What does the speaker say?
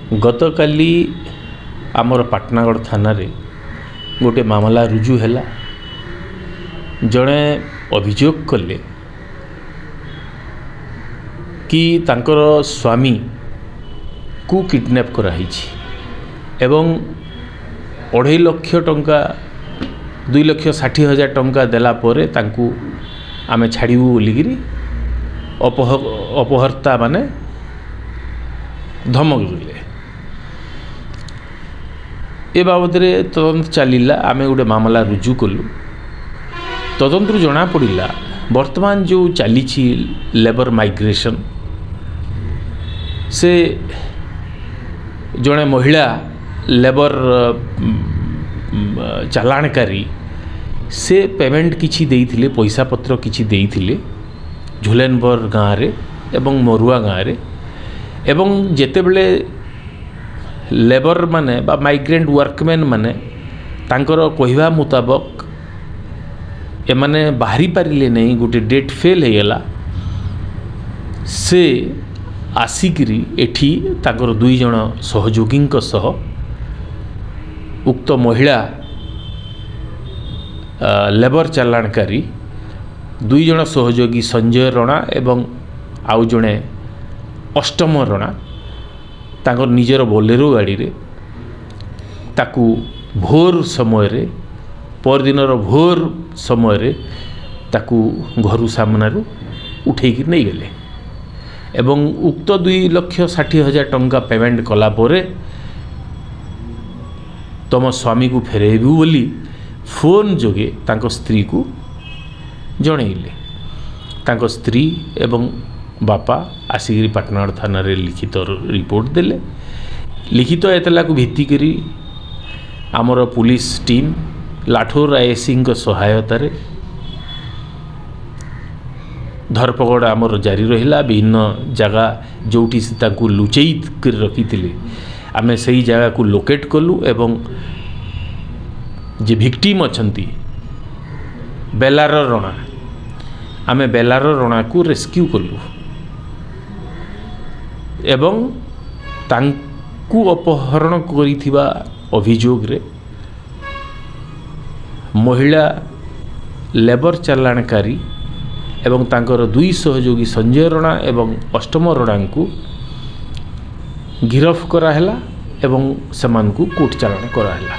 ଗତକାଲି ଆମର ପାଟନାଗଡ଼ ଥାନାରେ ଗୋଟେ ମାମଲା ରୁଜୁ ହେଲା। ଜଣେ ଅଭିଯୋଗ କଲେ କି ତାଙ୍କର ସ୍ୱାମୀକୁ କିଡ଼ନାପ୍ କରାହେଇଛି ଏବଂ 2.5 ଲକ୍ଷ ଟଙ୍କା, 2,60,000 ଟଙ୍କା ଦେଲା ପରେ ତାଙ୍କୁ ଆମେ ଛାଡ଼ିବୁ ବୋଲିକିରି ଅପହର୍ତ୍ତା ମାନେ ଧମକ ଦେଲେ। ଏ ବାବଦରେ ତଦନ୍ତ ଚାଲିଲା। ଆମେ ଗୋଟେ ମାମଲା ରୁଜୁ କଲୁ। ତଦନ୍ତରୁ ଜଣାପଡ଼ିଲା, ବର୍ତ୍ତମାନ ଯେଉଁ ଚାଲିଛି ଲେବର ମାଇଗ୍ରେସନ୍, ସେ ଜଣେ ମହିଳା ଲେବର ଚାଲାଣକାରୀ, ସେ ପେମେଣ୍ଟ କିଛି ଦେଇଥିଲେ, ପଇସା ପତ୍ର କିଛି ଦେଇଥିଲେ ଝୁଲେନବର ଗାଁରେ ଏବଂ ମରୁଆ ଗାଁରେ। ଏବଂ ଯେତେବେଳେ ଲେବର ମାନେ ବା ମାଇଗ୍ରେଣ୍ଟ ୱାର୍କମ୍ୟାନ୍ ମାନେ ତାଙ୍କର କହିବା ମୁତାବକ ଏମାନେ ବାହାରି ପାରିଲେ ନାହିଁ, ଗୋଟେ ଡେଟ୍ ଫେଲ୍ ହେଇଗଲା, ସେ ଆସିକିରି ଏଠି ତାଙ୍କର 2 ଜଣ ସହଯୋଗୀଙ୍କ ସହ ଉକ୍ତ ମହିଳା ଲେବର ଚାଲାଣକାରୀ 2 ଜଣ ସହଯୋଗୀ ସଞ୍ଜୟ ରଣା ଏବଂ ଆଉ ଜଣେ ଅଷ୍ଟମ ରଣା ତାଙ୍କର ନିଜର ବୋଲେରୋ ଗାଡ଼ିରେ ତାକୁ ଭୋର ସମୟରେ, ପରଦିନର ଭୋର ସମୟରେ ତାକୁ ଘରୁ ସାମ୍ନାରୁ ଉଠେଇକି ନେଇଗଲେ ଏବଂ ଉକ୍ତ 2,60,000 ଟଙ୍କା ପେମେଣ୍ଟ କଲା ପରେ ତୁମ ସ୍ୱାମୀକୁ ଫେରାଇବୁ ବୋଲି ଫୋନ୍ ଯୋଗେ ତାଙ୍କ ସ୍ତ୍ରୀକୁ ଜଣେଇଲେ। ତାଙ୍କ ସ୍ତ୍ରୀ ଏବଂ ବାପା ଆସିକିରି ପାଟନାଗଡ଼ ଥାନାରେ ଲିଖିତ ରିପୋର୍ଟ ଦେଲେ। ଲିଖିତ ଏତଲାକୁ ଭିତ୍ତି କରି ଆମର ପୁଲିସ ଟିମ୍ ଲାଠୋର ଆଇଏସିଙ୍କ ସହାୟତାରେ ଧରପଗଡ଼ ଆମର ଜାରି ରହିଲା। ବିଭିନ୍ନ ଜାଗା ଯେଉଁଠି ସେ ତାଙ୍କୁ ଲୁଚେଇ କରି ରଖିଥିଲେ, ଆମେ ସେଇ ଜାଗାକୁ ଲୋକେଟ୍ କଲୁ ଏବଂ ଯେ ଭିକ୍ଟିମ୍ ଅଛନ୍ତି ବେଲାର ରଣା, ଆମେ ବେଲାର ରଣାକୁ ରେସ୍କ୍ୟୁ କଲୁ ଏବଂ ତାଙ୍କୁ ଅପହରଣ କରିଥିବା ଅଭିଯୋଗରେ ମହିଳା ଲେବର ଚାଲାଣକାରୀ ଏବଂ ତାଙ୍କର 2 ସହଯୋଗୀ ସଞ୍ଜୟ ରଣା ଏବଂ ଅଷ୍ଟମ ରଣାଙ୍କୁ ଗିରଫ କରାହେଲା ଏବଂ ସେମାନଙ୍କୁ କୋର୍ଟ ଚାଲାଣ କରାହେଲା।